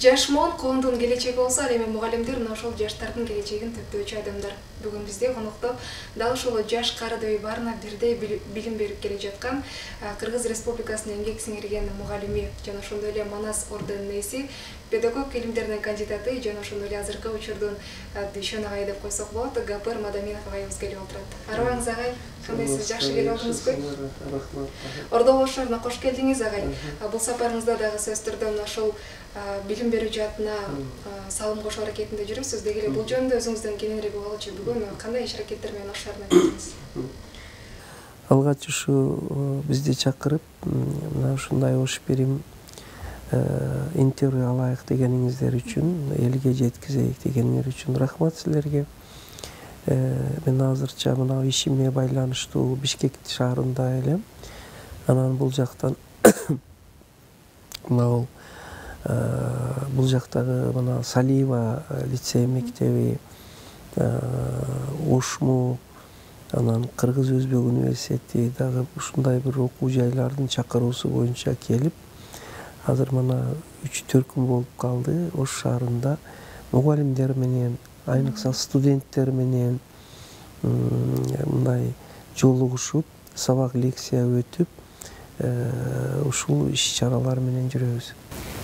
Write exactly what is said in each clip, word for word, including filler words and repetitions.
Жашмон коомдун келечеги болсо, ал эми мугалимдер мына ошол жаштардын келечегин төптөөчү адамдар. Бүгүн бизде конокто дал ушул жаш карыдөй баарына бирдей билим берип келе жаткан Кыргыз Республикасынын эмгек сиңирген мугалими жана ошондой эле Манас орденинин ээси, педагог илимдеринин кандидаты жана ошондой эле азыркы учурдун Дүйшөн агай деп койсок болот, Гапыр Мадаминов агайыбыз келип отурат. Арыбаңыз агай, кандайсыз, жакшы келип алдыңызбы? Рахмат. Ордо болушуна кош келдиңиз агай. Бул сапарыңызда дагы сөз түрдө мына ошол билим берүү жаатына салым кошуу аракетинде жүрүпсүз. Деги эле бул жөнүндө өзүңүздөн кененирээк угалычы, бүгүн кандай иш аракеттер менен ошолордун айттыңыз? Алгач ушу бизди чакырып, мына ушундай ош берим интервью алайык дегениңиздер үчүн, элге жеткизейик дегениңер үчүн рахмат силерге. Мен азырча мына ишиме байланыштуу Бишкек шаарында элем. Анан бул жактан мына бул жактагы мына Салиева лицей мектеби, Ошму, анан Кыргыз Өзбек университети дагы ушундай бир окуу жайлардын чакыруусу боюнча келип, азыр мына үч төрт күн болуп калды. Ош шаарында мугалимдер менен, айныкса студенттер менен мындай жолугушуп, сабак лекция өтүп, ушул иш-чаралар менен жүрөбүз.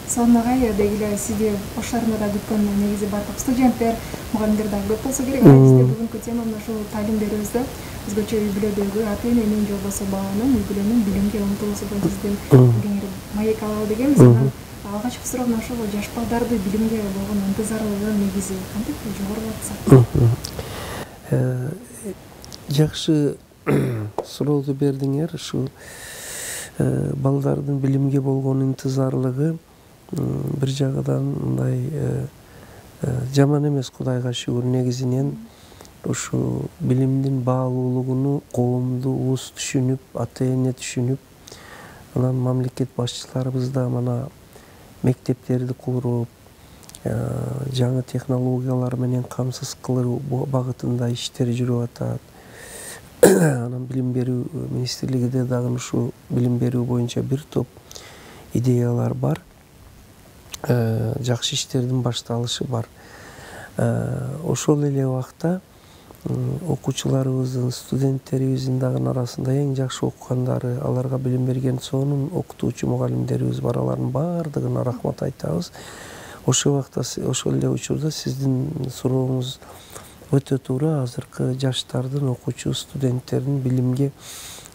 Сонун агай, деги эле сизди Ош шаарында да күткөн негизи бардык студенттер, мугалимдер да көп болсо керек. Бизде бүгүнкү тема мына ушул талим берүүбүздө өзгөчө үй бүлөдөгү ата-эненин же болбосо баланын үй бүлөнүн билимге умтулуусу боюнча сизден кеңири маек алалы дегенбиз. Анан алгачкы суроо мына ошол жаш балдарды билимге болгон ынтызарлыгы негизи кантип жогорулатса? Жакшы сурооду бердиңер. Ушу балдардын билимге болгон ынтызарлыгы бир жагынан мындай жаман эмес, Кудайга шүгүр. Негизинен ушу билимдин баалуулугуну коомду уус түшүнүп, ата-эне түшүнүп, анан мамлекет башчыларыбыз да мына мектептерди куруп, жаңы технологиялар менен камсыз кылуу багытында иштер жүрүп атат. Анан билим берүү министрлигиде дагы ушу билим берүү боюнча бир топ идеялар бар. Жакшы иштердин башталышы бар. Ошол эле убакта окуучуларыбыздын, студенттерибиздин дагы арасында эң жакшы окугандары, аларга билим берген сонун окутуучу мугалимдерибиз бар. Алардын баардыгына рахмат айтабыз. Ошол убакта, ошол эле учурда сиздин сурооңуз өтө туура. Азыркы жаштардын, окуучу студенттердин билимге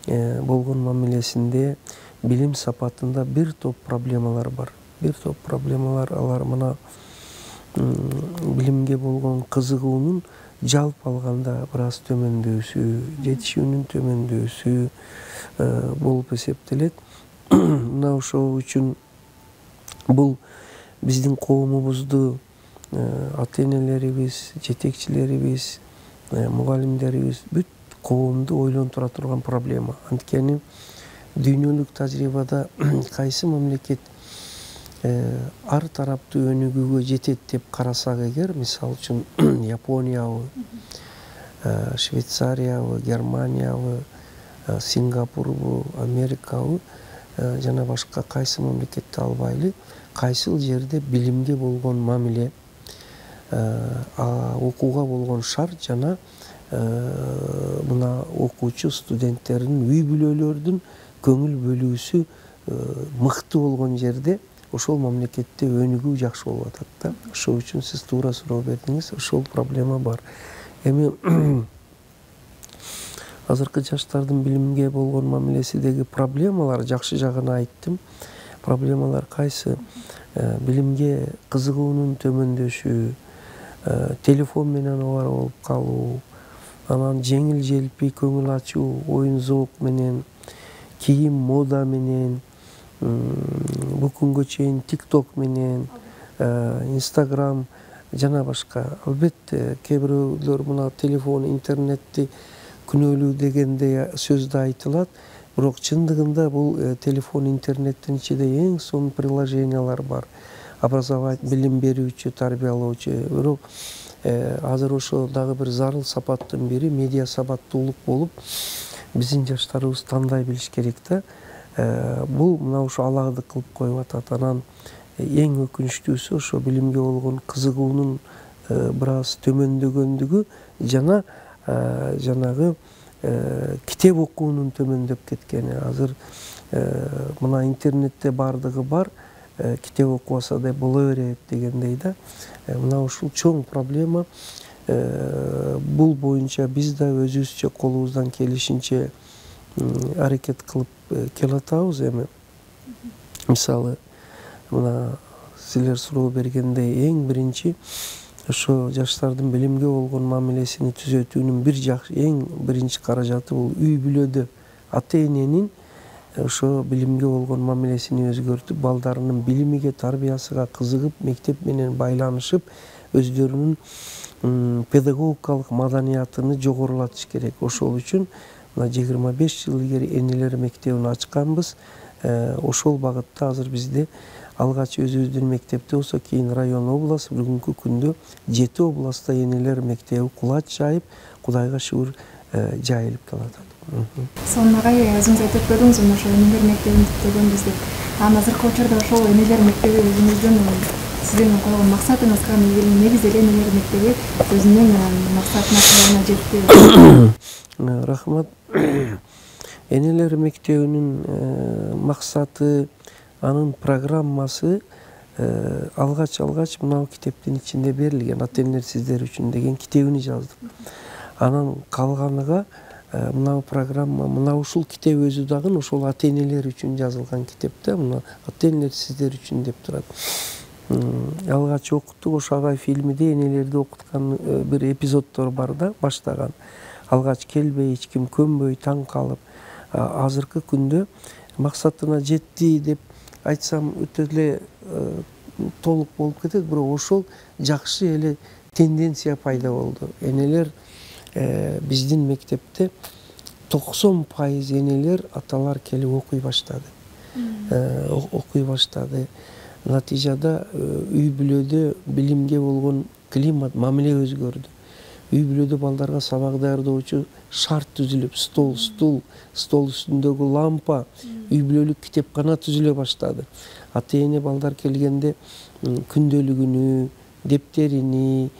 болгон мамилесинде, билим сапатында бир топ проблемалар бар. Бир топ проблемалар, алар мына билимге болгон кызыгуунун жалпы алганда бир аз төмөндөсү, жетишүүнүн төмөндөсү болуп эсептелет. Мына ошол үчүн бул биздин коомубузду ата-энелерибиз, жетекчилерибиз, мугалимдерибиз, бүт коомду ойлонтура турган проблема. Анткени дүйнөлүк тажрыйбада кайсы мамлекет ар тараптуу өнүгүүгө жетет деп карасак эгер, мисалы үчүн Япониябы, Швейцариябы, Германиябы, Сингапурбу, Америкабы жана башка кайсы мамлекетти албайлы, кайсыл жерде билимге болгон мамиле, окууга болгон шарт жана мына окуучу студенттердин, үй бүлөлөрдүн көңүл бөлүүсү мыкты болгон жерде ошол мамлекетте өнүгүү жакшы болуп атат да. Ошол үчүн сиз туура суроо бердиңиз, ошол проблема бар. Эми азыркы жаштардын билимге болгон мамилесидеги проблемалар, жакшы жагын айттым. Проблемалар кайсы? Билимге кызыгуунун төмөндөшү, телефон менен обара болуп калуу, анан жеңил желпи көңүл ачуу, оюн зоок менен, кийим мода менен, бул күнгө чейин тикток менен, инстаграм жана башка. Албетте кээ бирөөлөр мына телефон, интернетти күнөөлүү дегенде сөз да айтылат. Бирок чындыгында бул телефон, интернеттин ичинде эң сонун приложениялар бар. Образовать, билим берүүчү, тарбиялоочу. Бирок азыр ошо дагы бир зарыл сапаттын бири медиа сабаттуулук болуп, биздин жаштарыбыз тандай билиш керек да. Бул мына ушу алагды кылып коюп атат. Анан эң өкүнүчтүүсү ошо билимге болгон кызыгуунун бир аз төмөндөгөндүгү жана жанагы китеп окуунун төмөндөп кеткени. Азыр мына интернетте баардыгы бар, китеп окубаса да боло берет дегендей да. Мына ушул чоң проблема. Бул боюнча биз да өзүбүзчө колубуздан келишинче аракет кылып келатабыз. Эми мисалы мына силер суроо бергендей эң биринчи ошо жаштардын билимге болгон мамилесини түзөтүүнүн бир жакшы эң биринчи каражаты бул үй бүлөдө ата эненин ошо билимге болгон мамилесини өзгөртүп, балдарынын билимиге, тарбиясыга кызыгып, мектеп менен байланышып, өздөрүнүн педагогикалык маданиятын жогорулатыш керек. Ошол үчүн мына жыйырма беш жыл илгери энелер мектебин ачканбыз. Ошол багытта азыр бизде алгач өзүбүздүн мектепте болсо, кийин район, область, бүгүнкү күндө жети областта энелер мектеби кулач жайып, Кудайга шүгүр жайылып келатат. Сонун агай, өзүңүз айтып көрдүңүз, ошо энелер мектебин бүттөгөнбүз деп. Анан азыркы учурда ошол энелер мектеби өзүңүздүн сиздин койгон максатыңызга негиз эле энелер мектеби өзүнүн максатына чыгууна жетти. Рахмат. Энелер мектебинин максаты, анын программасы алгач алгач мына китептин ичинде берилген. Ата энелер сиздер үчүн деген китебини жаздым. Анан калганыга мына программа, мына ушул китеп өзү дагы ошол ата энелер үчүн жазылган китеп да. Мына ата энелер сиздер үчүн деп турат. Алгач окуттук, ошо агай фильмиде энелерди окуткан бир эпизоддор бар да, баштаган. Алгач келбей, эч ким көнбөй, таң калып, азыркы күндө максатына жетти деп айтсам өтө эле толук болуп кетет, бирок ошол жакшы эле тенденция пайда болду. Энелер биздин мектепте токсон пайыз энелер, аталар келип окуй баштады. Окуй баштады. Натыйжада үй бүлөдө билимге болгон климат, мамиле өзгөрдү. Үй бүлөдө балдарга сабак даярдоочу шарт түзүлүп, стол, стул, стол үстүндөгү лампа, үй бүлөлүк китепкана түзүлө баштады. Ата эне балдар келгенде күндөлүгүнү, дептерини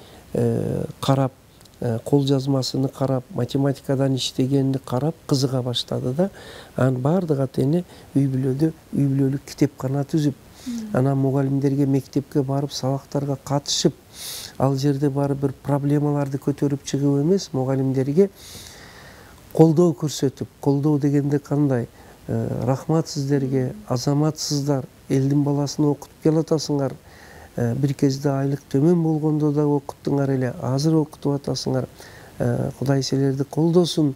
карап, кол жазмасыны карап, математикадан иштегенди карап кызыга баштады да. Анан баардык ата эне үй бүлөдө үй бүлөлүк китепкана түзүп, анан мугалимдерге мектепке барып сабактарга катышып, ал жерде барып бир проблемаларды көтөрүп чыгып эмес, мугалимдерге колдоо көрсөтүп, колдоо дегенде кандай? Рахмат сиздерге, азаматсыздар, элдин баласын окутуп келатасыңар. Бир кезде айлык төмөн болгондо да окуттуңар эле, азыр окутуп атасыңар. Кудай силерди колдосун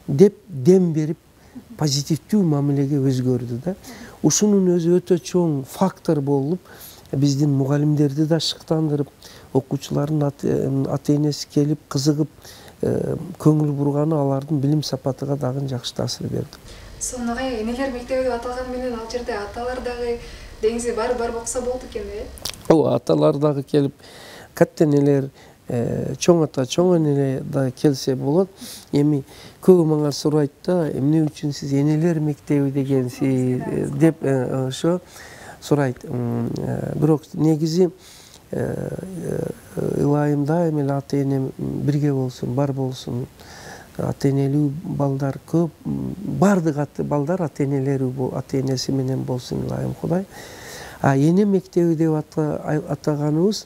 деп дем берип, позитивдүү мамилеге өзгөрдү да. Ушунун өзү өтө чоң фактор болуп, биздин мугалимдерди да шыктандырып, окуучулардын ата энеси келип кызыгып көңүл бурганы алардын билим сапатыга дагы жакшы таасир берди. Сонун агай, энелер мектеби деп аталган менен ал жерде аталар дагы деңизи бар бар болсо болду экен да. Ооба, аталар дагы келип, катта энелер, чоң ата, чоң эне да келсе болот. Эми көбү мага сурайт да, эмне үчүн сиз энелер мектеби дегенсиз деп ошо сурайт. Бирок негизи ылайым дайым эле ата эне бирге болсун, бар болсун. Ата энелүү балдар көп, бардык балдар ата энелери, ата энеси менен болсун ылайым Кудай. А эне мектеби деп атаганыбыз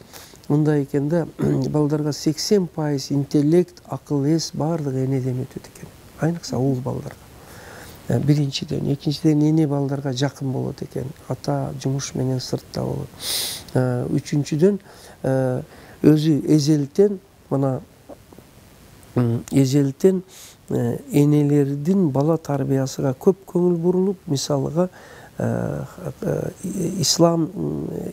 мындай экен да, балдарга сексен пайыз интеллект, акыл эс бардык энеден өтөт экен. Айныкса уул балдарга. Биринчиден, экинчиден эне балдарга жакын болот экен. Ата жумуш менен сыртта болот. Үчүнчүдөн өзү эзелтен, мына эзелтен энелердин бала тарбиясыга көп көңүл бурулуп, мисалыга ислам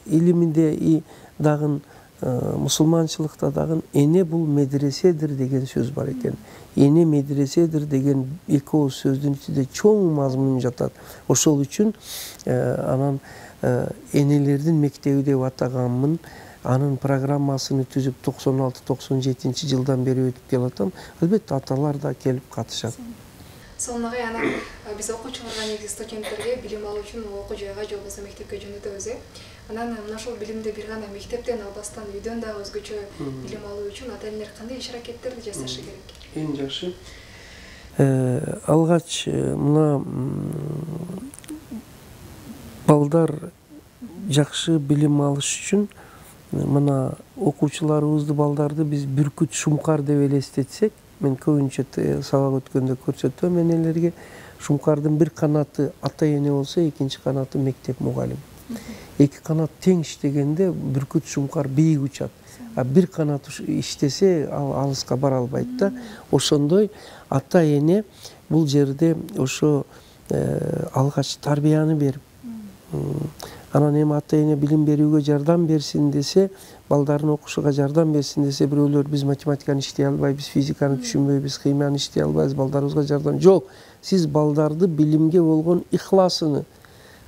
илиминде дагы, мусулманчылыкта дагы эне бул медреседир деген сөз бар экен. Эне медреседир деген эки ооз сөздүн ичинде чоң мазмун жатат. Ошол үчүн анан энелердин мектеби деп атаганмын. Анын программасыны түзүп токсон алты токсон жетинчи жылдан бери өтүп келатам. Албетте аталар да келип катышат. сонун агай, анан биз окуучуларга негизи студенттерге билим алуу үчүн окуу жайга же болбосо мектепке жөнөтөбүз э. Анан мына ушул билимди бир гана мектептен албастан үйдөн дагы өзгөчө билим алуу үчүн ата энелер кандай иш аракеттерди жасашы керек? Эң жакшы. Алгач мына балдар жакшы билим алыш үчүн мына окуучуларыбызды, балдарды биз бүркүт шумкар деп элестетсек, мен көбүнчө сабак өткөндө көрсөтөм энелерге, шумкардын бир канаты ата эне болсо, экинчи канаты мектеп мугалим. Эки канат тең иштегенде бүркүт шумкар бийик учат. А бир канат иштесе ал алыска бара албайт да. Ошондой ата эне бул жерде ошо алгач тарбияны берип, анан эми ата эне билим берүүгө жардам берсин десе, балдарын окушуга жардам берсин десе, бирөөлөр биз математиканы иштей албайбыз, физиканы түшүнбөйбүз, химияны иштей албайбыз, балдарыбызга жардам. Жок, сиз балдарды билимге болгон ихласыны,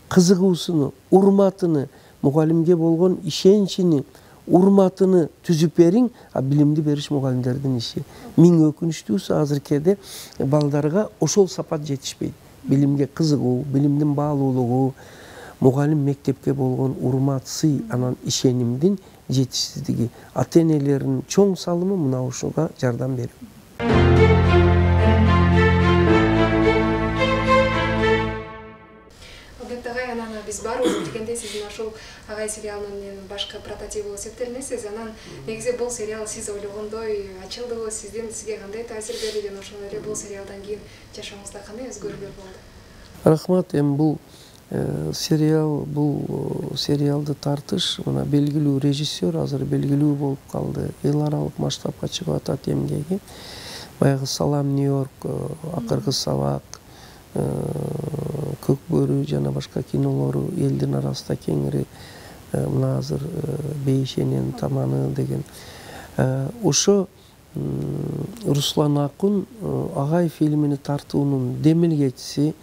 кызыгуусуну, урматыны, мугалимге болгон ишеничини, урматыны түзүп бериң, а билимди бериш мугалимдердин иши. Миң өкүнүчтүүсү азыркеде балдарга ошол сапат жетишпейт. Билимге кызыгуу, билимдин баалуулугу, мугалим мектепке болгон урмат, сый, анан ишенимдин жетишсиздиги. Ата энелердин чоң салымы мына ушуга жардам берүү. Албетте агай, анан биз баарыбыз билгендей, сиз ушул агай сериалынын башкы прототип болуп эсептелинесиз. Анан негизи бул сериал сиз ойлогондой ачылдыбы, сиздин сизге кандай таасир берди жана ошол эле бул сериалдан кийин жашооңузда кандай өзгөрүүлөр болду? Рахмат. Эми бул сериал, бул сериалды тартыш мына белгилүү режиссер азыр белгилүү болуп калды. Эл аралык масштабка чыгып атат эмгеги. Баягы Салам Нью-Йорк, Акыркы сабак, Көк бөрү жана башка кинолору элдин арасында кеңири мына азыр Бейшенен таманы деген. Ошо Руслан Акун агай фильмини тартуунун демилгечиси,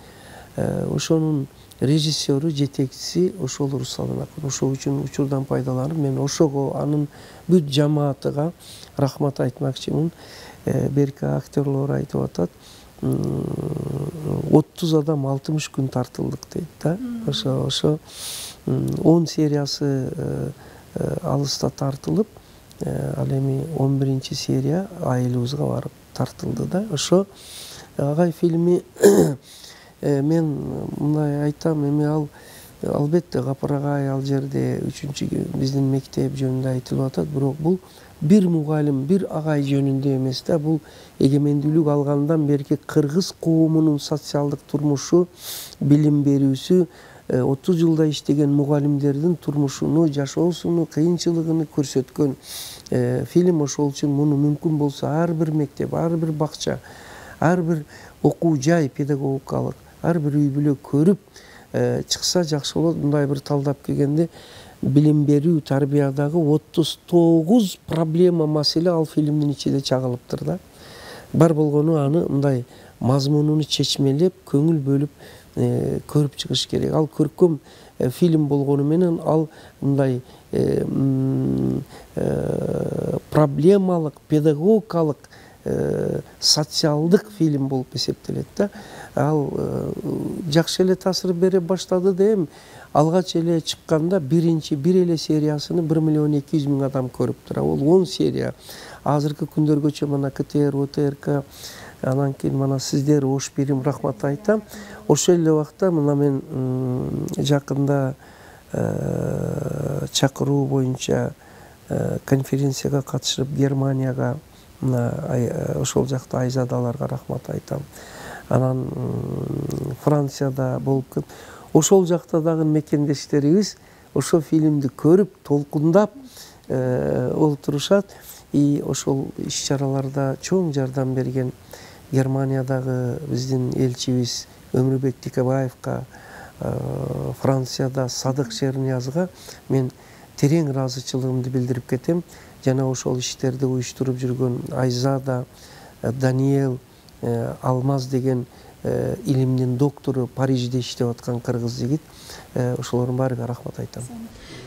ошонун режиссеру, жетекчиси ошол Руслан Акун. Ошол үчүн учурдан пайдаланып мен ошого, анын бүт жамаатыга рахмат айтмакчымын. Берки актерлор айтып атат, отуз адам алтымыш күн тартылдык дейт да. Ошо ошо он сериясы алыста тартылып, ал эми он биринчи серия айылыбызга барып тартылды да. Ошо агай фильми мен мындай айтам, эми ал албетте Гапар агай ал жерде үчүнчү биздин мектеп жөнүндө айтылып атат, бирок бул бир мугалим, бир агай жөнүндө эмес да, бул эгемендүүлүк алгандан берки кыргыз коомунун социалдык турмушу, билим берүүсү, отуз жылда иштеген мугалимдердин турмушуну, жашоосуну, кыйынчылыгын көрсөткөн фильм. Ошол үчүн муну мүмкүн болсо ар бир мектеп, ар бир бакча, ар бир окуу жай педагогикалык, ар бир үй бүлө көрүп чыкса жакшы болот. Мындай бир талдап келгенде билим берүү, тарбиядагы отуз тогуз проблема, маселе ал фильмдин ичинде чагылыптыр да. Бар болгону аны мындай мазмунуну чечмелеп, көңүл бөлүп көрүп чыгыш керек. Ал көркөм фильм болгону менен ал мындай проблемалык, педагогикалык, социалдык фильм болуп эсептелет да. Ал жакшы эле таасир бере баштады да. Эми алгач эле чыкканда биринчи бир эле сериясыны бир миллион эки жүз миң адам көрүптүр. Ол он серия. Азыркы күндөргөчө мына КТР, ОТРК, анан кийин мына сиздер ош бирим рахмат айтам. Ошол эле убакта мына мен жакында чакыруу боюнча конференцияга катышып Германияга, мына ошол жакта айзадаларга рахмат айтам. Анан Францияда болуп, ошол жакта дагы мекендештерибиз ошол фильмди көрүп, толкундап олтурушат. И ошол иш-чараларда чоң жардам берген Германиядагы биздин элчибиз Өмүрбек Тикебаевка, Францияда Садык Шерниязга мен терең ыраазычылыгымды билдирип кетем. Жана ошол иштерди уюштуруп жүргөн Айзада, Даниэл, Алмаз деген илимдин доктору, Парижде иштеп аткан кыргыз жигит, ошолордун баарыга рахмат айтам.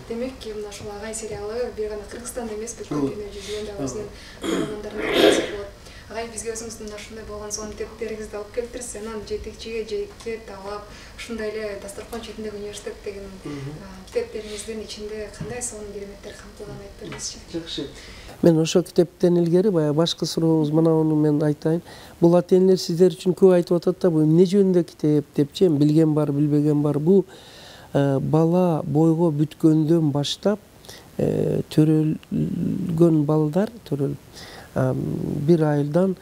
Демек, мына ушул агай сериалы бир гана Кыргызстанда эмес, бүткүл дүйнө жүзүнөн да өзүнүн көрөрмөндөрүнө таасир болот. агай бизге өзүңүздүн ушундай болгон сонун китептериңизди алып келиптирсиз, анан жетекчиге жеке талап ушундай эле Дасторкон четиндеги университет деген китептериңиздин ичинде кандай сонун кереметтер камтылган айтып бериңизчи. Жакшы. Мен ошо китептен илгери баягы башкы сурооңуз мынауну мен айтайын. Бул ата-энелер сиздер үчүн көп айтып атат да, бул эмне жөнүндө китеп депчи, билген бар, билбеген бар. Бул бала бойго бүткөндөн баштап төрөлгөн балдар, төрөлүп бир айдан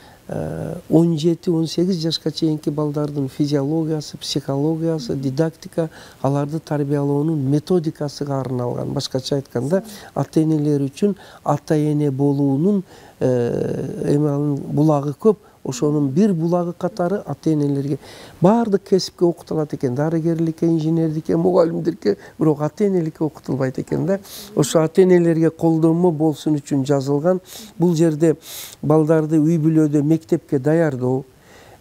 он жети он сегиз жашка чейинки балдардын физиологиясы, психологиясы, дидактика, аларды тарбиялоонун методикасыга арналган. Башкача айтканда, ата-энелер үчүн ата-эне болуунун эме булагы көп. Ошонун бир булагы катары ата-энелерге баардык кесипке окутулат экен. Дарыгерликке, инженердикке, мугалимдикке, бирок ата-энеликке окутулбайт экен да. Ошо ата-энелерге колдонмо болсун үчүн жазылган. Бул жерде балдарды үй бүлөдө мектепке даярдоо,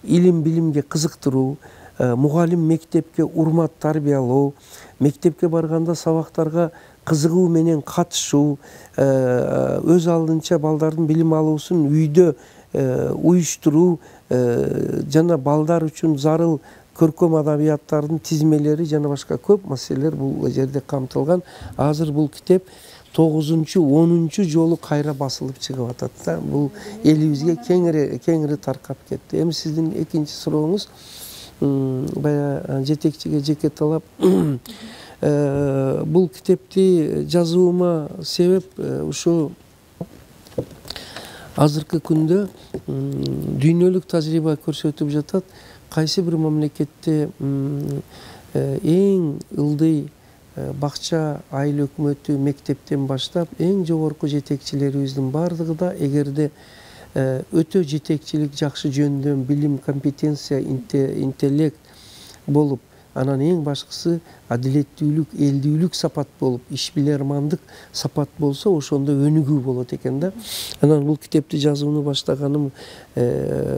илим билимге кызыктыруу, мугалим мектепке урмат тарбиялоо, мектепке барганда сабактарга кызыгуу менен катышуу, өз алдынча балдардын билим алуусун үйдө уюштуруу жана балдар үчүн зарыл көркөм адабияттардын тизмелери жана башка көп маселелер бул жерде камтылган. Азыр бул китеп тогузунчу онунчу жолу кайра басылып чыгып атат да. Бул элибизге кеңири кеңири таркап кетти. Эми сиздин экинчи сурооңуз баягы жетекчиге жеке талап. Бул китепти жазуума себеп ушу азыркы күндө дүйнөлүк тажрыйба көрсөтүп жатат, кайсы бир мамлекетте эң ылдый бакча, айыл өкмөтү, мектептен баштап эң жогорку жетекчилерибиздин баардыгы да эгерде өтө жетекчилик жакшы жөндөм, билим, компетенция, интеллект болуп, анан эң башкысы адилеттүүлүк, элдүүлүк сапат болуп, ишбилермандык сапат болсо, ошондо өнүгүү болот экен да. Анан бул китепти жазууну баштаганым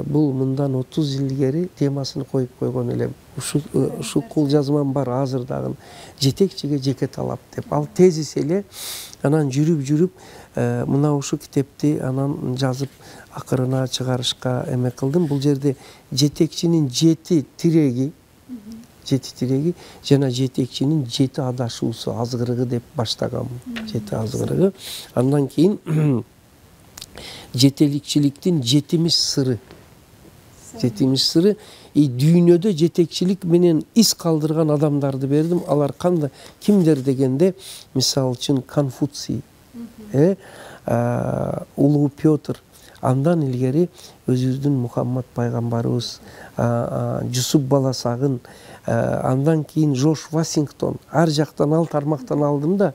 бул мындан отуз жыл илгери темасын коюп койгон элем. Ушул кол жазмам бар азыр дагы, жетекчиге жеке талап деп. Ал тезис эле. Анан жүрүп-жүрүп мына ушу китепти анан жазып акырына чыгарышка эме кылдым. Бул жерде жетекчинин жети тиреги жети тиреги жана жетекчинин жети адашуусу, азгырыгы деп баштагам. Жети азгырыгы. Андан кийин жетеликчиликтин жетимиш сыры. Жетимиш сыры. И дүйнөдө жетекчилик менен из калдырган адамдарды бердим. Алар кандай, кимдер дегенде, мисалы үчүн Конфуций, э, Улуу Петр, андан илгери өзүбүздүн Мухаммад пайгамбарыбыз, Жусуп Баласагын, андан кийин Жорж Вашингтон, ар жактан ал тармактан алдым да,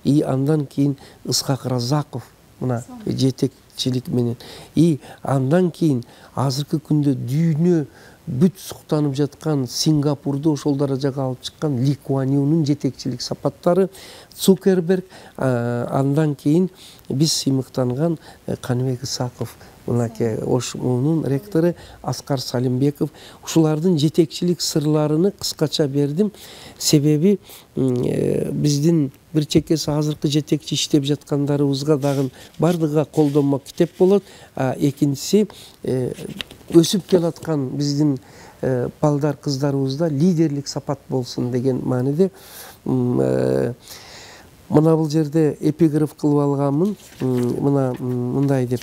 и андан кийин Ысқақ Разақов, мына жетекчилик менен. И андан кийин азыркы күндө дүйнө бүт суктанып жаткан Сингапурду ошол даражага алып чыккан Ли Куан Юнун жетекчилик сапаттары, Цукерберг, андан кийин биз сыймыктанган Каныбек Исаков, мынакей Ошмунун ректору Аскар Салимбеков, ушулардын жетекчилик сырларыны кыскача бердим. Себеби биздин бир чекеси азыркы жетекчи иштеп жаткандарыбызга дагы бардыгыга колдонмо китеп болот. Экинчиси өсүп келаткан биздин балдар, кыздарыбызда лидерлик сапат болсун деген мааниде мына бул жерде эпиграф кылып алганмын. Мына мындай деп: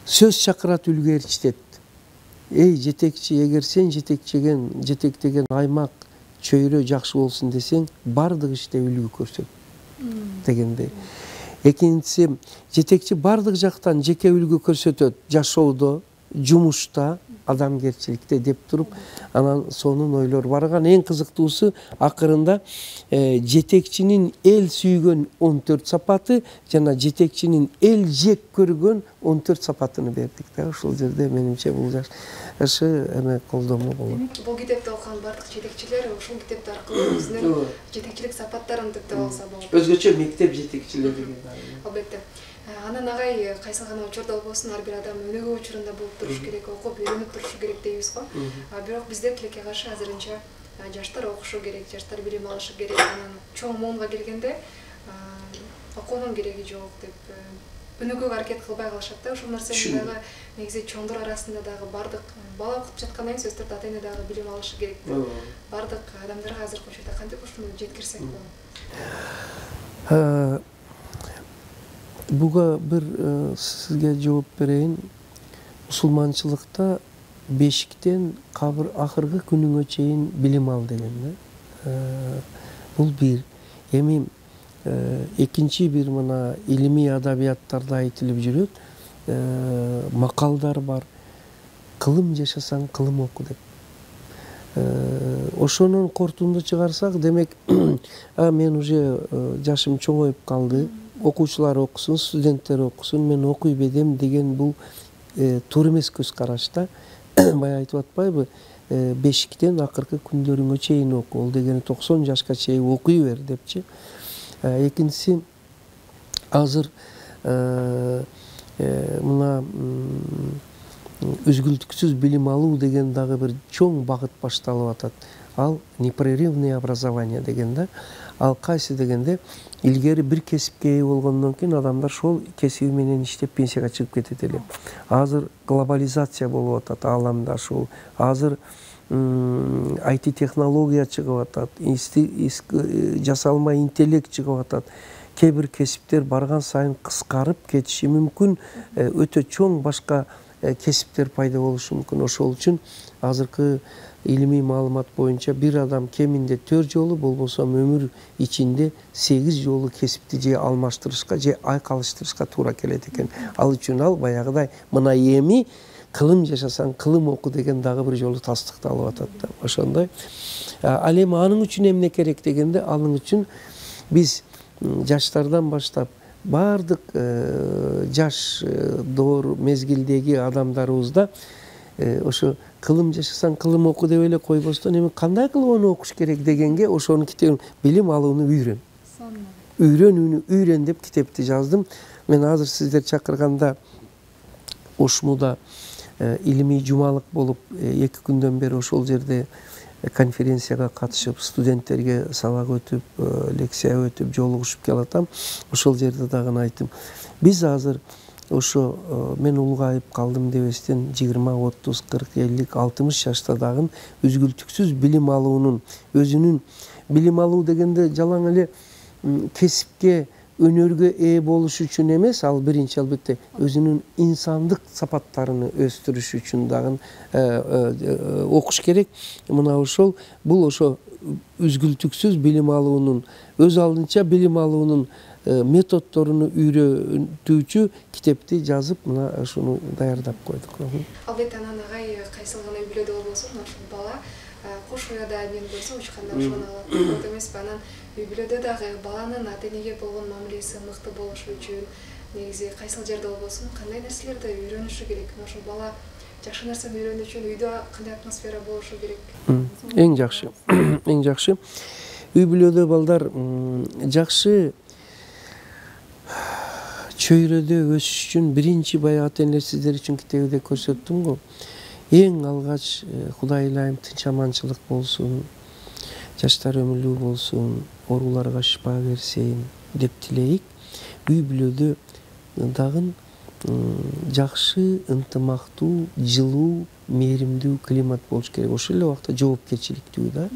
сөз чакырат, үлгү ээрчитет. Эй жетекчи, эгер сен жетектеген жетектеген аймак, чөйрө жакшы болсун десең, бардык иште үлгү көрсөт дегендей. Экинчиси, жетекчи бардык жактан жеке үлгү көрсөтөт, жашоодо, жумушта, адамгерчиликте деп туруп, анан сонун ойлор барган. Эң кызыктуусу акырында жетекчинин эл сүйгөн он төрт сапаты жана жетекчинин эл жек көргөн он төрт сапатыны бердик да. Ошол жерде менимче бул жакшы эме колдонмо болот. Бул китепти окуган бардык жетекчилер ушул китеп аркылуу өзүнүн жетекчилик сапаттарын типтеп алса болот. Өзгөчө мектеп жетекчилери деген. Албетте. Анан агай кайсы гана учурда болбосун ар бир адам өнүгүү учурунда болуп туруш керек, окуп үйрөнүп турушу керек дейбиз го. Бирок бизде тилекке каршы азырынча жаштар окушу керек, жаштар билим алышы керек. Анан чоң муунга келгенде окуунун кереги жок деп өнүгүүгө аракет кылбай калышат да. Ошол нерсени дагы негизи чоңдор арасында дагы бардык бала окуп жаткандан кийин сөздөр ата эне дагы билим алышы керек. Бардык адамдарга азыркы учурда кантип ушуну жеткирсек болот? Буга бир сизге жооп берейин. Мусулманчылыкта бешиктен кабыр акыркы күнүңө чейин билим ал деген да. Бул бир. Эми экинчи бир мына илимий адабияттарда айтылып жүрөт. Макалдар бар. Кылым жашасаң кылым оку деп. Ошонун кортунду чыгарсак, демек, а мен уже жашым чоңоюп калды. Окуучулар окусун, студенттер окусун, мен окуй бедем деген бул туура эмес көз карашта. Бая айтып атпайбы? Бешиктен акыркы күндөрүңө чейин оку. Ол дегени токсон жашка чейин окуй бер депчи. Экинчиси, азыр мына үзгүлтүксүз билим алуу деген дагы бир чоң багыт башталып атат. Ал непрерывное образование деген да. Ал кайсы дегенде, илгери бир кесипке ээ болгондон кийин адамдар шол кесиби менен иштеп пенсияга чыгып кетет эле. Азыр глобализация болуп атат ааламда ушул. Азыр ай ти технология чыгып атат, жасалма интеллект чыгып атат. Кээ бир кесиптер барган сайын кыскарып кетиши мүмкүн, өтө чоң башка кесиптер пайда болушу мүмкүн. Ошол үчүн азыркы илимий маалымат боюнча бир адам кеминде төрт жолу, болбосо өмүр ичинде сегиз жолу кесипти же алмаштырышка, же айкалыштырышка туура келет экен. Ал үчүн ал баягыдай мына эми кылым жашасаң кылым оку деген дагы бир жолу тастыкталып атат да. Ошондой. Ал эми анын үчүн эмне керек дегенде, анын үчүн биз жаштардан баштап бардык жаш доор мезгилдеги адамдарыбызда ошо кылым жашасаң кылым оку деп эле койбостон, эми кандай кылып аны окуш керек дегенге ошонун китебин билим алууну үйрөн. Үйрөнүүнү үйрөн деп китепти жаздым. Мен азыр сиздер чакырганда Ошмуда илимий жумалык болуп эки күндөн бери ошол жерде конференцияга катышып, студенттерге сабак өтүп, лекция өтүп, жолугушуп келатам. Ошол жерде дагы айттым. Биз азыр ошо мен улгайып калдым дебестен жыйырма, отуз, кырк, элүү, алтымыш жашта дагы үзгүлтүксүз билим алуунун, өзүнүн билим алуу дегенде жалаң эле кесипке, өнөргө ээ болуш үчүн эмес, ал биринчи албетте өзүнүн инсандык сапаттарын өстүрүш үчүн дагы окуш керек. Мына ошол бул ошо үзгүлтүксүз билим алуунун, өз алдынча билим алуунун методдоруну үйрөтүүчү китепти жазып, мына ушуну даярдап койдук. Албетте анан агай кайсыл гана үй бүлөдө болбосун, ошол бала кош уяда мен болсо учканда ошону алат. Болот эмеспи? Анан үй бүлөдө дагы баланын ата энеге болгон мамилеси мыкты болушу үчүн негизи кайсыл жерде болбосун кандай нерселерди үйрөнүшү керек? Ошол бала жакшы нерсени үйрөнүү үчүн үйдө кандай атмосфера болушу керек? Эң жакшы. Эң жакшы. Үй бүлөдө балдар жакшы чөйрөдө өсүш үчүн биринчи баягы ата энелер сиздер үчүн китебиде көрсөттүм го. Эң алгач Кудай ылайым тынч аманчылык болсун, жаштар өмүрлүү болсун, ооруларга шифа берсин деп тилейик. Үй бүлөдө дагы жакшы, ынтымактуу, жылуу, мээримдүү климат болуш керек. Ошол эле убакта жоопкерчиликтүү да.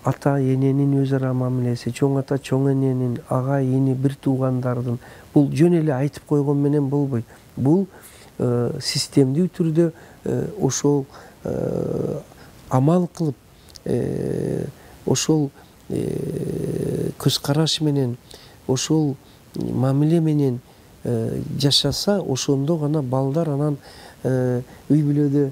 Ата эненин өз ара мамилеси, чоң ата чоң эненин, ага ини бир туугандардын, бул жөн эле айтып койгон менен болбойт. Бул системдүү түрдө ошол амал кылып, ошол көз караш менен, ошол мамиле менен жашаса, ошондо гана балдар анан үй бүлөдө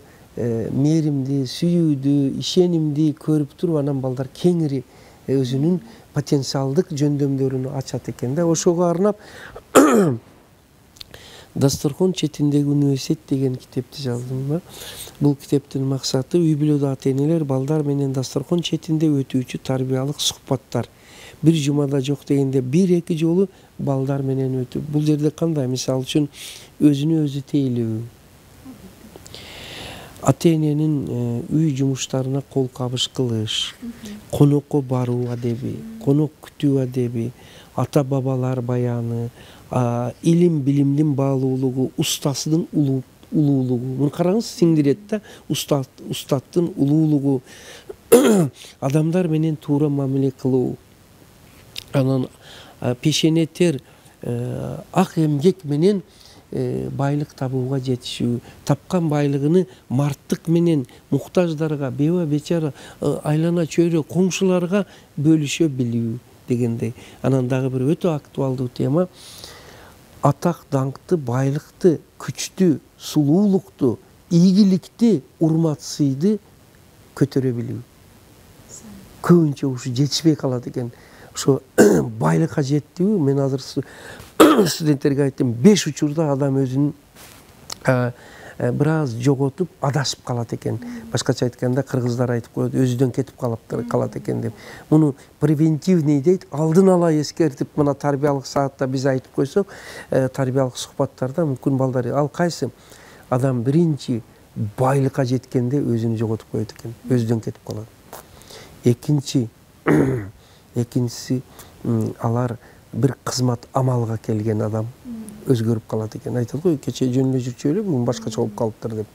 мээримди, сүйүүдү, ишенимди көрүп туруп, анан балдар кеңири өзүнүн потенциалдык жөндөмдөрүн ачат экен да. Ошого арнап Дасторкон четиндеги университет деген китепти жаздым. Бул китептин максаты үй бүлөдө ата энелер балдар менен дасторкон четинде өтүүчү тарбиялык сухбаттар. Бир жумада жок дегенде бир-эки жолу балдар менен өтүп, бул жерде кандай, мисалы үчүн өзүнө өзү тейлөө, ата эненин үй жумуштарына кол кабыш кылыш, конокко баруу адеби, конок күтүү адеби, ата бабалар баяны, илим билимдин баалуулугу, устасынын улуулугу. Муну караңыз, сиңдирет да, устаттын улуулугу, адамдар менен туура мамиле кылуу, анан пешене тер, ак эмгек менен байлык табууга жетишүү, тапкан байлыгыны марттык менен муктаждарга, беба бечара, айлана чөйрө коңшуларга бөлүшө билүү дегендей. Анан дагы бир өтө актуалдуу тема атак даңкты, байлыкты, күчтү, сулуулукту, ийгиликти, урмат сыйды көтөрө билүү. Көбүнчө ушу жетишпей калат экен. Ошо байлыкка жеттиби, мен азыр студенттерге айттым, беш учурда адам өзүн бир аз жоготуп, адашып калат экен. Башкача айтканда, кыргыздар айтып коет, өзүдөн кетип калат экен деп. Муну превентивный дейт, алдын ала эскертип, мына тарбиялык саатта биз айтып койсок, тарбиялык сухбаттарда мүмкүн балдар, ал кайсы адам биринчи байлыкка жеткенде өзүн жоготуп коет экен, өзүдөн кетип калат. Экинчи, экинчиси алар бир кызмат амалга келген адам өзгөрүп калат экен. Айтат го, кече жөн эле жүрчү эле, бүгүн башкача болуп калыптыр деп.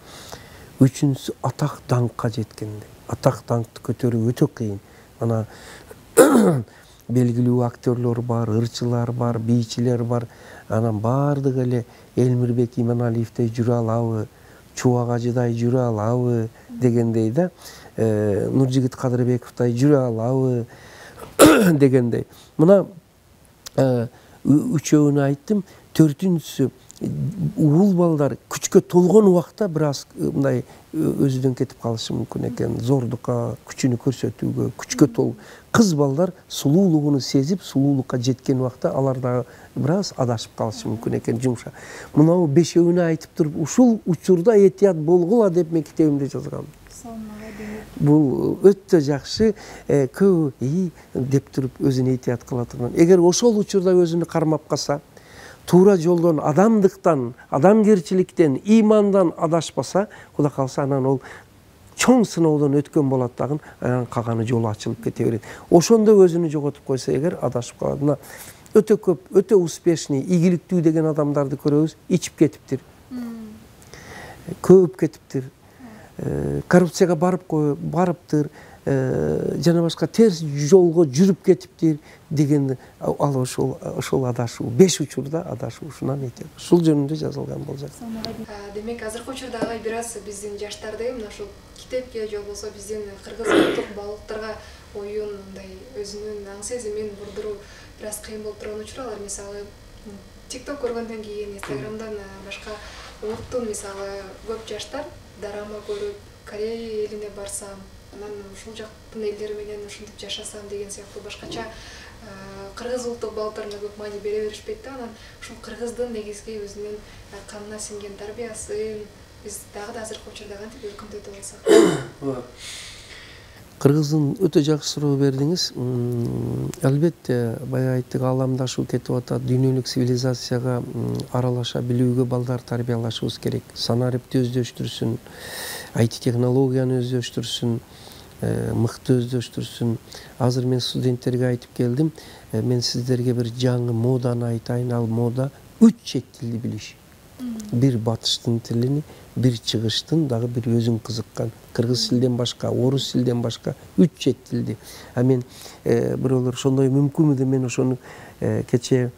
Үчүнчүсү атак даңкка жеткенде. Атак даңкты көтөрүү өтө кыйын. Ана белгилүү актерлор бар, ырчылар бар, бийчилер бар. Анан бардыгы эле Элмирбек Иманалиевдей жүрө алабы, Чубак ажыдай жүрө алабы дегендей да, Нуржигит Кадырбековдай жүрө алабы дегендей. Мына үчөөүнү айттым. Төртүнчүсү, уул балдар күчкө толгон убакта бир аз мындай өзүдөн кетип калышы мүмкүн экен. Зордукка, күчүнү көрсөтүүгө, күчкө тол. Кыз балдар сулуулугуну сезип, сулуулукка жеткен убакта алар дагы бир аз адашып калышы мүмкүн экен, жумша. Мынау бешөөүнү айтып туруп, ушул учурда этият болгула деп мен китебимде жазгам. Бул өтө жакшы, көбү и деп туруп өзүн этият кыла турган. Эгер ошол учурда өзүнү кармап калса, туура жолдон, адамдыктан, адамгерчиликтен, имандан адашпаса, Кудай калса, анан ол чоң сыноодон өткөн болот дагы, анан калганы жолу ачылып кете берет. Ошондо өзүнү жоготуп койсо, эгер адашып калат. Мына өтө көп, өтө успешный, ийгиликтүү деген адамдарды көрөбүз, ичип кетиптир. Көп кетиптир. Коррупцияга барып барыптыр, жана башка терс жолго жүрүп кетиптир деген ал ошол ошол адашуу, беш учурда адашуу, ушунан этет. Ушул жөнүндө жазылган болжок. Демек, азыркы учурда агай бир аз биздин жаштарды мына ушул китепке же болбосо биздин кыргыз улуттук балыктарга оюн, мындай өзүнүн аң сезимин бурдуруу бир аз кыйын болуп турган учурлар. Мисалы, TikTok көргөндөн кийин, Instagramдан башка улуттун, мисалы, көп жаштар дарама көрүп, Корея элине барсам, анан ушул жактын элдери менен ушинтип жашасам деген сыяктуу башкача кыргыз улуттук балыктарына көп маани бере беришпейт да. Анан ушул кыргыздын негизги өзүнүн канына сиңген тарбиясын биз дагы да азыркы учурда кантип өркүндөтө алсак? Кыргыздын өтө жакшы суроо бердиңиз. Албетте, бая айттык, ааламдашуу кетип атат, дүйнөлүк цивилизацияга аралаша билүүгө балдар тарбиялашыбыз керек. Санарипти өздөштүрсүн, ай ти технологияны өздөштүрсүн, мыкты өздөштүрсүн. Азыр мен студенттерге айтып келдим, мен сиздерге бир жаңы моданы айтайын, ал мода үч чет тилди билиш. Бир батыштын тилини, бир чыгыштын, дагы бир өзүң кызыккан. Кыргыз тилден башка, орус тилден башка үч чет тилди. А мен бирөөлөр ошондой мүмкүнбү деп мен ошону кече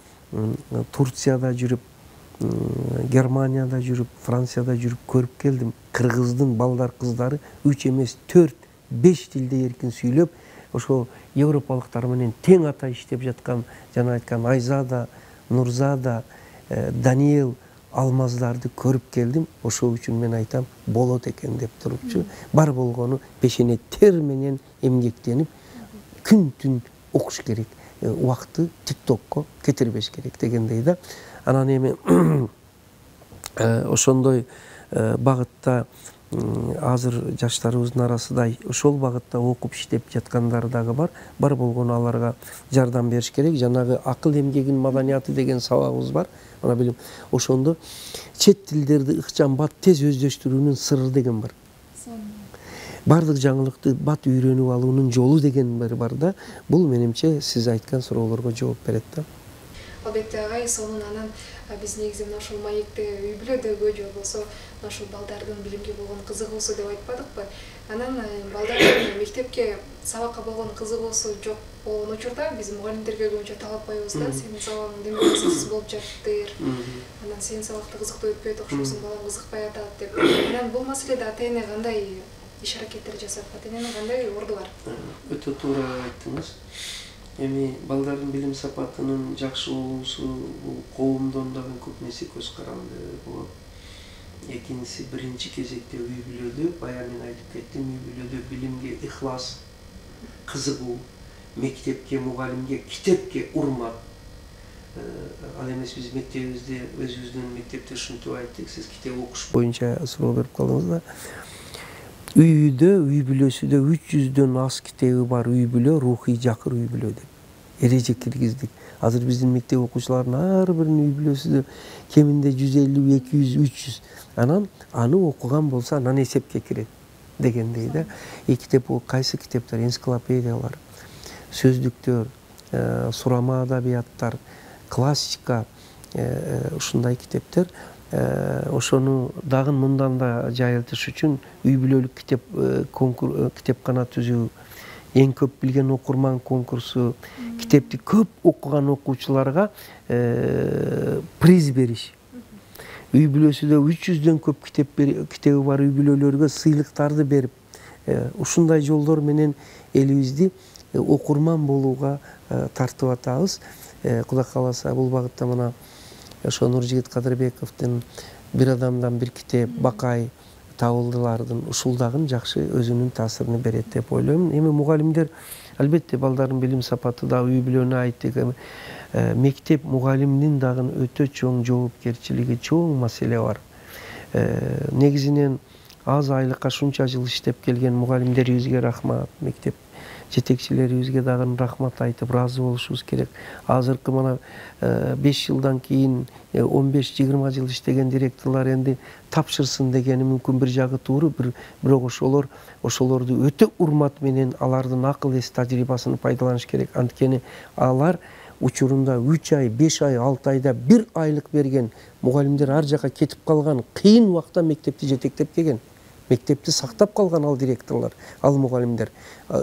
Турцияда жүрүп, Германияда жүрүп, Францияда жүрүп көрүп келдим. Кыргыздын балдар, кыздары үч эмес, төрт, беш тилде эркин сүйлөп, ошо европалыктар менен тең ата иштеп жаткан, жана айткан Айзада, Нурзада, Даниэл, алмаздарды көрүп келдим. Ошол үчүн мен айтам, болот экен деп турупчу. Бар болгону пешене тер менен эмгектенип, күн түн окуш керек. Убакытты TikTokко кетирбеш керек дегендей да. Анан эми ошондой багытта азыр жаштарыбыздын арасында ошол багытта окуп иштеп жаткандар дагы бар. Бар болгону аларга жардам бериш керек. Жанагы акыл эмгегин маданияты деген сабагыбыз бар. Ана билим, ошондо чет тилдерди ыкчам бат тез өздөштүрүүнүн сырры деген бар. баардык жаңылыкты бат үйрөнүп алуунун жолу деген бир бар да. Бул менимче сиз айткан суроолорго жооп берет да. Албетте агай, сонун анан биз негизи мына ушул маекте үй бүлөдөгү же болбосо ушул балдардын билимге болгон кызыгуусу деп айтпадыкпы? Анан балдардын мектепке сабакка болгон кызыгуусу жок болгон учурда биз мугалимдерге көбүнчө талап коебуз да, сенин сабагың демек кызыксыз болуп жатыптыр. Анан сенин сабакты кызыктуу өтпөйт, окшойсуң, балаң кызыкпай атат деп. Анан бул маселеде ата-эне кандай иш-аракеттер жасап, ата-эненин кандай орду бар? Өтө туура айттыңыз. Эми балдардын билим сапатынын жакшы болуусу бул коомдон дагы көп нерсе көз каранды болот. Экинчиси, биринчи кезекте үй бүлөдө, баягы мен айтып кеттим, үй бүлөдө билимге ыхлас, кызыгуу, мектепке, мугалимге, китепке урмат. Ал эмес биз мектебибизде өзүбүздүн мектепте ушинтип айттык, сиз китеп окуш боюнча суроо берип калдыңыз да. Үйдө, үй бүлөсүдө үч жүздөн аз китеби бар үй бүлө рухий жакыр үй бүлө деп эреже киргиздик. Азыр биздин мектеп окуучуларынын ар биринин үй бүлөсүдө кеминде жүз элүү, эки жүз, үч жүз. Анан аны окуган болсо анан эсепке кирет дегендей да. И китеп кайсы китептер, энциклопедиялар, сөздүктөр, сурама адабияттар, классика, ушундай китептер. Ошону дагы мындан да жайылтыш үчүн үй бүлөлүк китеп китепкана түзүү, эң көп билген окурман конкурсу, китепти көп окуган окуучуларга приз бериш. Үй бүлөсүдө үч жүздөн көп китеп китеби бар үй бүлөлөргө сыйлыктарды берип, ушундай жолдор менен элибизди окурман болууга тартып атабыз. Кудай кааласа бул багытта мына ошо Нуржигит Кадырбековдун бир адамдан бир китеп, Бакай табылдылардын ушул дагы жакшы өзүнүн таасирин берет деп ойлойм. Эми мугалимдер албетте балдардын билим сапаты да үй бүлөнү айттык. Мектеп мугалимдин дагы өтө чоң жоопкерчилиги, чоң маселе бар. Негизинен аз айлыкка шунча жыл иштеп келген мугалимдерибизге рахмат, мектеп жетекчилерибизге дагы рахмат айтып ыраазы болушубуз керек. Азыркы мына беш жылдан кийин он беш жыйырма жыл иштеген директорлор энди тапшырсын дегени мүмкүн бир жагы туура, бирок ошолор ошолорду өтө урмат менен алардын акыл эс тажрыйбасын пайдаланыш керек. Анткени алар учурунда үч ай, беш ай, алты айда бир айлык берген мугалимдер ар жака кетип калган кыйын убакта мектепти жетектеп келген. Мектепти сактап калган ал директорлор, ал мугалимдер,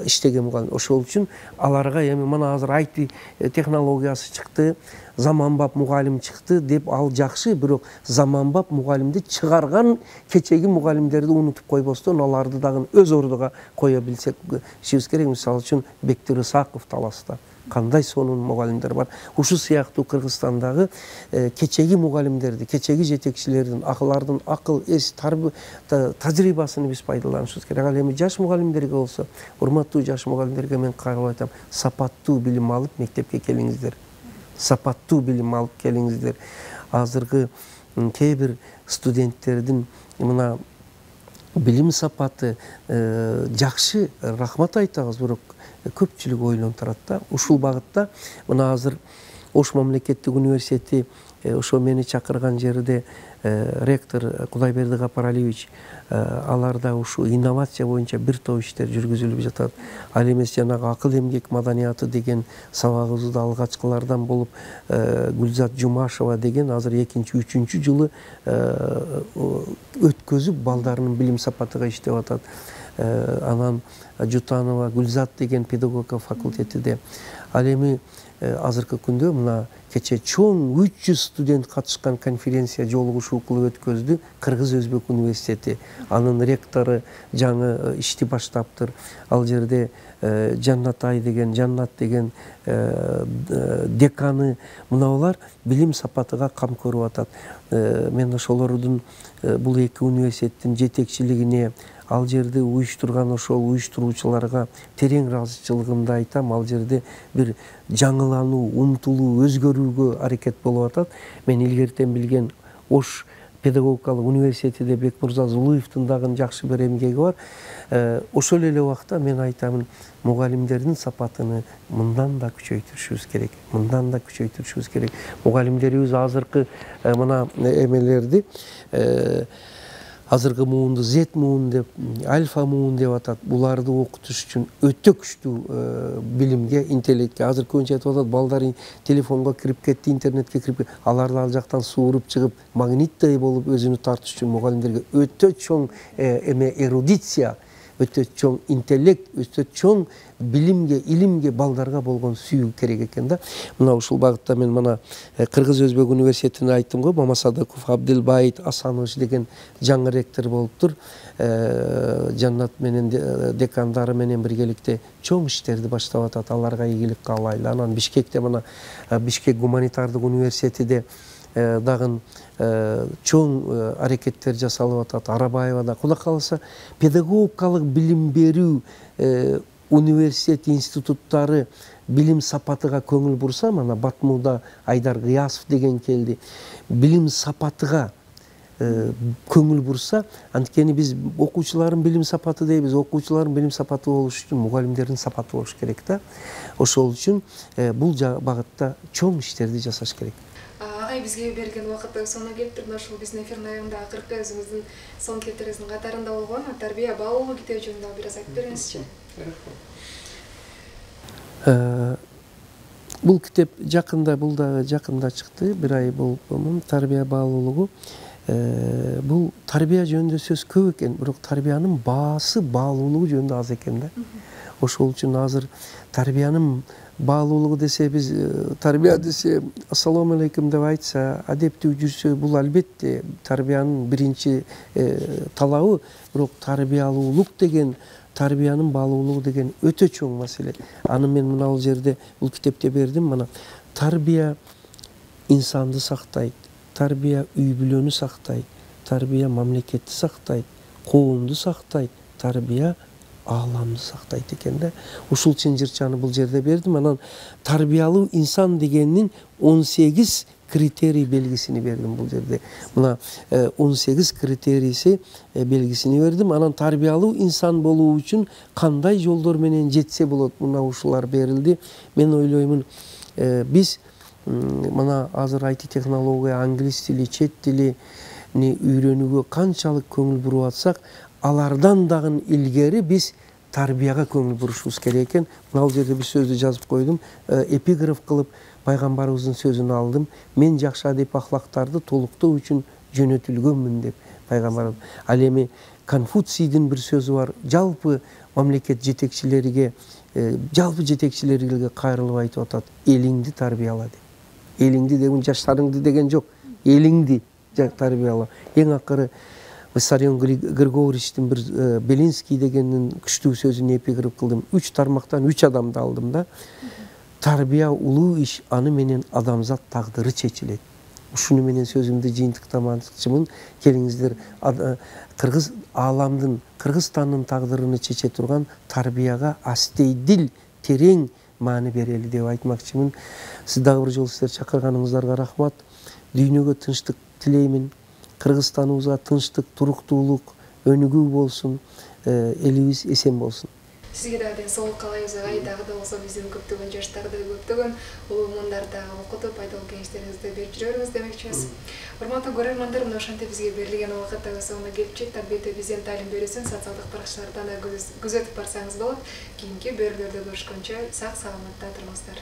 иштеген мугалим. Ошол үчүн аларга эми мына азыр ай ти технологиясы чыкты, заманбап мугалим чыкты деп ал жакшы, бирок заманбап мугалимди чыгарган кечеги мугалимдерди унутуп койбостон аларды дагы өз ордуга кое билсек ишибиз керек. Мисалы үчүн Бектир Ысаков Таласта кандай сонун мугалимдер бар. Ушу сыяктуу Кыргызстандагы кечеги мугалимдерди, кечеги жетекчилердин акылардын акыл эс тажрыйбасын биз пайдаланышыбыз керек. Ал эми жаш мугалимдерге болсо, урматтуу жаш мугалимдерге мен кайрылып айтам, сапаттуу билим алып мектепке келиңиздер. Сапаттуу билим алып келиңиздер. Азыркы кээ бир студенттердин мына билим сапаты жакшы, рахмат айтабыз, бирок көпчүлүк ойлонуп турат да. Ушул багытта мына азыр Ош мамлекеттик университети ошо мени чакырган жерде ректор Кудайберди Гапаралиевич аларда ушу инновация боюнча бир топ иштер жүргүзүлүп жатат. Ал эмес жанагы акыл эмгек маданияты деген сабагыбызды алгачкылардан болуп Гүлзат Жумашева деген азыр экинчи, үчүнчү жылы өткөзүп балдарынын билим сапатыга иштеп атат. Анан Жутанова Гүлзат деген педагогика факультетиде. Ал эми азыркы күндө мына кече чоң үч жүз студент катышкан конференция жолугушуу кылып өткөздү Кыргыз Өзбек университети. Анын ректору жаңы ишти баштаптыр. Ал жерде Жаннатай деген, Жаннат деген деканы, мына алар билим сапатыга кам көрүп атат. Мен ошолордун бул эки университеттин жетекчилигине, ал жерде уюштурган ошол уюштуруучуларга терең ыраазычылыгымды айтам. Ал жерде бир жаңылануу, умтулуу, өзгөрүүгө аракет болуп атат. Мен илгертен билген Ош педагогикалык университетиде Бекмурза Зулуевдун дагы жакшы бир эмгеги бар. Ошол эле убакта мен айтамын, мугалимдердин сапатыны мындан да күчөйтүшүбүз керек. Мындан да күчөйтүшүбүз керек. Мугалимдерибиз азыркы мына эмелерди азыркы муунду Z муун деп, альфа муун деп атат. Буларды окутуш үчүн өтө күчтүү билимге, интеллектке. Азыр көбүнчө айтып атат, балдар телефонго кирип кетти, интернетке кирип кетти. Аларды ал жактан сууруп чыгып, магниттай болуп өзүнү тартыш үчүн мугалимдерге өтө чоң эме эрудиция, өтө чоң интеллект, өтө чоң билимге, илимге балдарга болгон сүйүү керек экен да. Мына ушул багытта мен мына Кыргыз Өзбек университетине айттым го, Мамасадыков Абдылбайит Асанович деген жаңы ректор болуптур. Жаннат менен декандары менен биргеликте чоң иштерди баштап атат. Аларга ийгилик каалайлы. Анан Бишкекте мына Бишкек гуманитардык университетиде дагы чоң аракеттер жасалып атат. Арабаевада Кудай кааласа педагогикалык билим берүү университет институттары билим сапатыга көңүл бурса, мана Батмуда Айдар Гыясов деген келди. Билим сапатыга көңүл бурса, анткени биз окуучулардын билим сапаты дейбиз. Окуучулардын билим сапаты болуш үчүн мугалимдердин сапаты болуш керек да. Ошол үчүн бул багытта чоң иштерди жасаш керек. Агай, бизге берген убакыт сонуна келиптир. Мына ушул биздин эфирдин аягында акыркы өзүңүздүн соң кеттериңиздин катарында болгон тарбия баалуулуу китеби жөнүндө бир аз айтып бериңизчи. Бул китеп жакында, бул дагы жакында чыкты, бир ай болуп, тарбия баалуулугу. Бул тарбия жөнүндө сөз көп экен, бирок тарбиянын баасы баалуулугу жөнүндө аз экен да. Ошол үчүн азыр тарбиянын баалуулугу десе, биз тарбия десе, ассаламу алейкум деп айтса, адептүү жүрсө, бул албетте тарбиянын биринчи талабы, бирок тарбиялуулук деген, тарбиянын баалуулугу деген өтө чоң маселе. Аны мен мына бул жерде бул китепте бердим. Мына тарбия инсанды сактайт, тарбия үй бүлөнү сактайт, тарбия мамлекетти сактайт, коомду сактайт, тарбия ааламды сактайт экен да. Ушул чынжырчаны бул жерде бердим. Анан тарбиялуу инсан дегенин он сегиз критерий белгисини бердим бул жерде. Мына он сегиз критерийси белгисини бердим. Анан тарбиялуу инсан болуу үчүн кандай жолдор менен жетсе болот, мына ушулар берилди. Мен ойлоймун, биз мына азыр ай ти технология, англис тили, чет тилини үйрөнүүгө канчалык көңүл буруп атсак, алардан дагы илгери биз тарбияга көңүл бурушубуз керек экен. Мына бул жерде бир сөздү жазып койдум. Эпиграф кылып пайгамбарыбыздын сөзүн алдым. Мен жакшы адеп ахлактарды толуктоо үчүн жөнөтүлгөнмүн деп пайгамбарыбыз. Ал эми Конфуцийдин бир сөзү бар. Жалпы мамлекет жетекчилериге, жалпы жетекчилерге кайрылып айтып атат: элиңди тарбияла деп. Элиңди деген жаштарыңды деген жок. Элиңди тарбияла. Эң акыры Виссарион Григорьевичтин бир Белинский дегендин күчтүү сөзүн эпиграф кылдым. Үч тармактан үч адамды алдым да. Тарбия улуу иш, аны менен адамзат тагдыры чечилет. Ушуну менен сөзүмдү жыйынтыктамакчымын. Келиңиздер, кыргыз ааламдын, Кыргызстандын тагдырын чече турган тарбияга астейдил, терең маани берели деп айтмакчымын. Сиз дагы бир жолу сиздер чакырганыңыздарга рахмат. Дүйнөгө тынчтык тилеймин. Кыргызстаныбызга тынчтык, туруктуулук, өнүгүү болсун, элибиз эсен болсун. Сизге дагы ден соолук каалайбыз агай. Дагы да болсо биздин көптөгөн жаштарды, көптөгөн улуумундарды окутуп, пайдалуу кеңештериңизди берип жүрө бериңиз демекчибиз. Урматтуу көрөрмандар, мына ошентип бизге берилген убакыт дагы соңуна келип жетти. Тарбия биздин таалим берүүсүн социалдык баракчалардан да күзөтүп барсаңыз болот. Кийинки берүүлөрдө көрүшкөнчө сак саламатта туруңуздар.